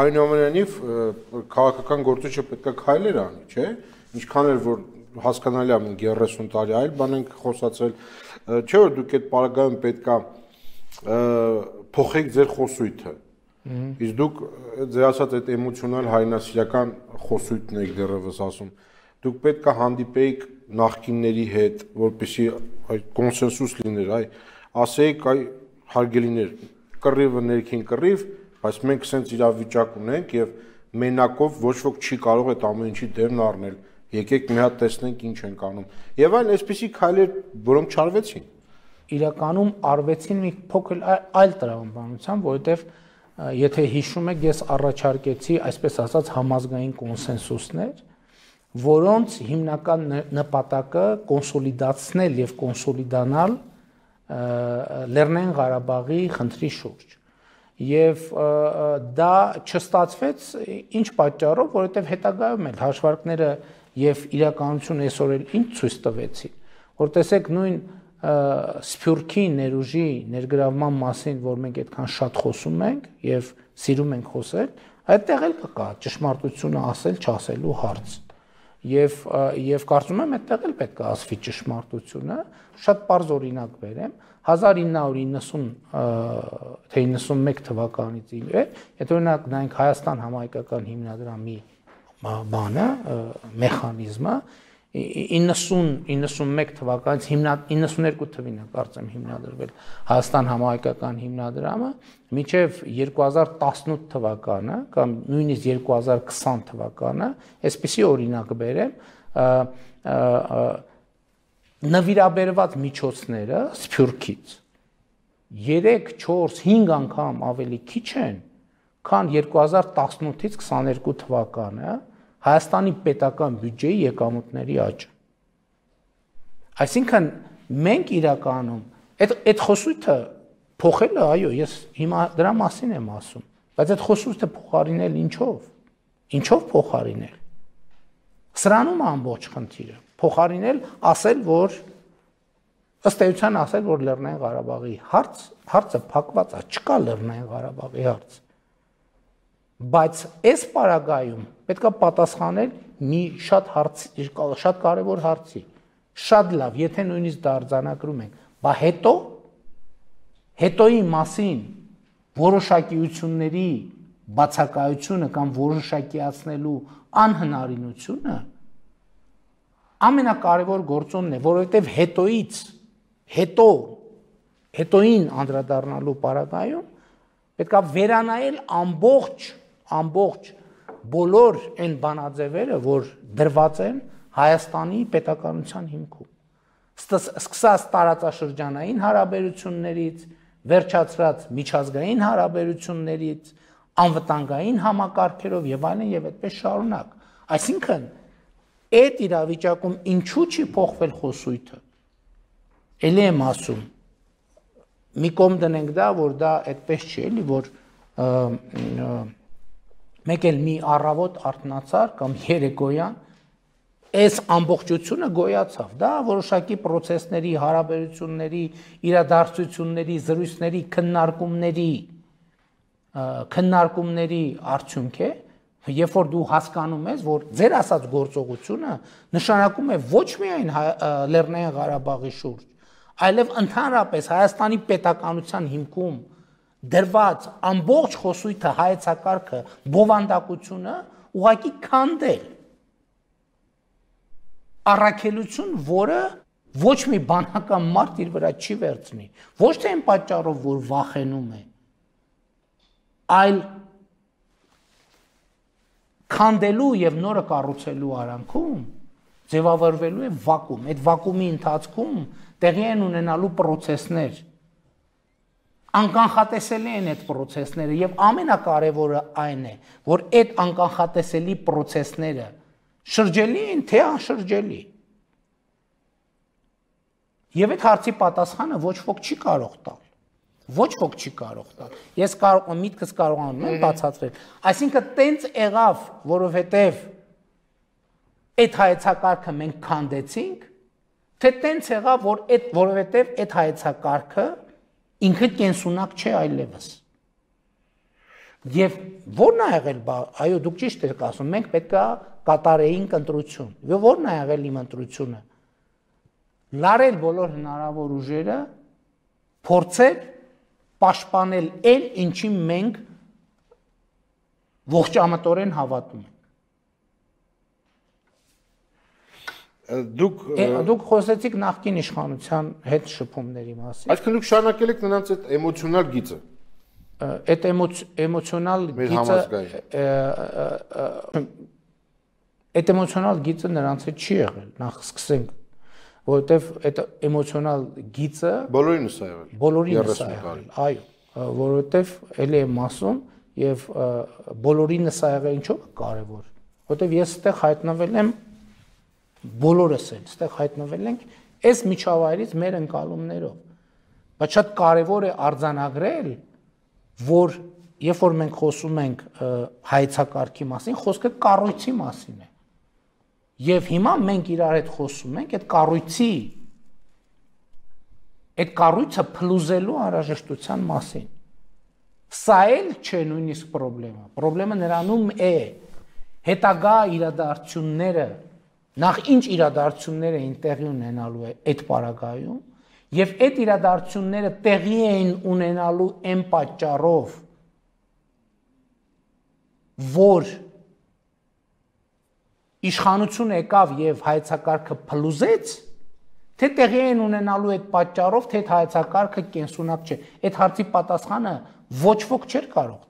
այնուամենայնիվ քաղաքական գործիչը պետք է քայլեր անի, չէ՞։ Ինչքան էլ որ հասկանալի է 30 տարի այլ բան ենք խոսացել, չէ՞ որ դուք այդ պարագայում պետք է փոխեք ձեր խոսույթը։ Իսկ դուք ձեր ասած այդ էմոցիոնալ հայրենասիրական խոսույթն եք դեռևս ասում։ Դուք պետք է հանդիպեիք նախկինների հետ, որպեսզի այդ կոնսենսուս լիներ, ասեիք, հարգելիներ, կռիվը ներքին կռիվ, բայց մենք սենց իրավիճակ ունենք եւ մենակով ոչ ոք չի կարող այդ ամեն ինչի դերն առնել։ Եկեք մի հատ տեսնենք ինչ ենք անում։ Եվ այլ այսպիսի քայլեր, որոնք չարվեցին։ Իրականում արվեցին մի փոքր այլ տրամաբանությամբ, որովհետեւ եթե հիշում եք, ես առաջարկեցի, այսպես ասած, համազգային կոնսենսուսներ, որոնց հիմնական նպատակը կոնսոլիդացնել եւ կոնսոլիդանալ Լեռնային Ղարաբաղի խնդրի շուրջ։ Եվ դա չստացվեց ինչ պատճառով, որովհետեւ հետագայում էլ հաշվարկները եւ իրականությունը այսօր էլ ինչ ցույց տվեցին, որ տեսեք նույն Սփյուռքի ներուժի ներգրավման մասին, որ մենք այդքան շատ խոսում ենք եւ սիրում ենք խոսել, այդտեղ էլ կկա ճշմարտությունը ասել, չասելու հարց։ Եվ կարծում եմ այդտեղ էլ պետք է ասվի ճշմարտությունը, շատ པարզ օրինակ բերեմ, 1990 թե 91 թվականից ի վեր, եթե օրինակ նայենք Հայաստան համահայկական հիմնադրամի բանը, մեխանիզմը 90-91 թվականից 92 թվին է կարծեմ հիմնադրվել Հայաստան համահայկական հիմնադրամը, մինչև 2018 թվականը կամ նույնիսկ 2020 թվականը, այսպիսի օրինակ բերեմ, նվիրաբերված միջոցները Սփյուռքից 3, 4, 5 անգամ ավելի քիչ են, քան 2018-ից 22 թվականը Հայաստանի պետական բյուջեի եկամուտների աճը։ Այսինքն մենք իրականում այդ խոսույթը փոխելը, այո, ես հիմա դրա մասին եմ ասում, բայց այդ խոսույթը փոխարինել ինչով։ Ինչով փոխարինել։ Սրանում է ամբողջ խնդիրը։ Փոխարինել ասել, որ ըստ էության ասել, որ Լեռնային Ղարաբաղի հարցը փակված է, չկա Լեռնային Ղարաբաղի հարց։ Բայց այս պարագայում պետք է պատասխանել մի շատ կարևոր հարցի։ Շատ լավ, եթե նույնիսկ դա արձանագրում ենք, բա հետոյի մասին որոշակիությունների բացակայությունը կամ որոշակիացնելու անհնարինությունը ամենակարևոր գործոնն է, որովհետև հետոյին անդրադառնալու պարագայում պետք է վերանայել ամբողջ բոլոր այն բանաձևերը, որ դրված են Հայաստանի պետականության հիմքում։ Սկսած տարածաշրջանային հարաբերություններից, վերջացրած միջազգային հարաբերություններից, անվտանգային համակարգերով եւ այլն եւ այդպես շարունակ։ Այսինքն այդ իրավիճակում ինչու չի փոխվել խոսույթը։ Էլի եմ ասում, մի կողմ դնենք դա, որ դա այդպես չի, էլի, որ մեկ էլ մի առավոտ արթնացար կամ երեկոյան այս ամբողջությունը գոյացավ, դա որոշակի պրոցեսների, հարաբերությունների, իրադարձությունների, զրույցների, քննարկումների արդյունք է, երբ որ դու հասկանում ես, որ ձեր ասած գործողությունը նշանակում է ոչ միայն Լեռնային Ղարաբաղի շուրջ, այլև ընդհանրապես Հայաստանի պետականության հիմքում դրված ամբողջ խոսույթը, հայեցակարգը, բովանդակությունը ուղղակի քանդել։ Առաքելություն, որը ոչ մի բանական մարդ իր վրա չի վերցնի, ոչ թե այն պատճառով, որ վախենում է, այլ քանդելու եւ նորը կառուցելու արանքում ձևավորվելու է վակուում։ Այդ վակուումի ընթացքում տեղի են ունենալու պրոցեսներ, անկանխատեսելի են այդ պրոցեսները եւ ամենակարևորը այն է, որ այդ անկանխատեսելի պրոցեսները շրջելի են թե անշրջելի։ Եվ այդ հարցի պատասխանը ոչ ոք չի կարող տալ։ Ոչ ոք չի կարող տալ։ Ես միտքս կարողանում եմ բացատրել։ Այսինքն տենց եղավ, որովհետեւ այդ հայեցակարգը մենք քանդեցինք, թե տենց եղավ, որովհետեւ այդ հայեցակարգը ինքը կենսունակ չէ այլևս։ Եվ ո՞րն է եղել, այո, դուք ճիշտ եք ասում, մենք պետքա կատարեինք ընտրություն։ Եվ ո՞րն է եղել իմ ընտրությունը։ Լարել բոլոր հնարավոր ուժերը, փորձել պաշտպանել այն, ինչին մենք ողջամտորեն հավատում ենք։ Դուք խոսեցիք նախկին իշխանության հետ շփումների մասին։ Այսինքն դուք շարունակել եք նրանց այդ էմոցիոնալ գիծը։ Այդ էմոցիոնալ գիծը նրանց հետ չի եղել, նախ սկսենք, որովհետև այդ էմոցիոնալ գիծը բոլորինս է եղել, այո, որովհետև էլի եմ ասում եւ բոլորինս է եղել ինչով կարեւոր, որովհետև ես այդտեղ հայտնվել եմ, բոլորս էլ այդտեղ հայտնվել ենք այս միջավայրից մեր ընկալումներով, բայց շատ կարեւոր է արձանագրել, որ երբ որ մենք խոսում ենք հայեցակարգի մասին, խոսքը կառույցի մասին է։ Եվ հիմա մենք իրար հետ խոսում ենք այդ կառույցը փլուզելու անհրաժեշտության մասին։ Սա էլ չէ նույնիսկ խնդրեմը։ Խնդրեմը նրանում է հետագա իրադարձությունները, նախ ինչ իրադարձություններ էին տեղի ունենալու այդ պարագայում, եւ այդ իրադարձությունները տեղի էին ունենալու այն պատճառով, որ իշխանությունը եկավ եւ հայեցակարգը փլուզեց, թե տեղի էին ունենալու այդ պատճառով, թե հայեցակարգը կենսունակ չէ։ Այդ հարցի պատասխանը ոչ ոք չէր կարող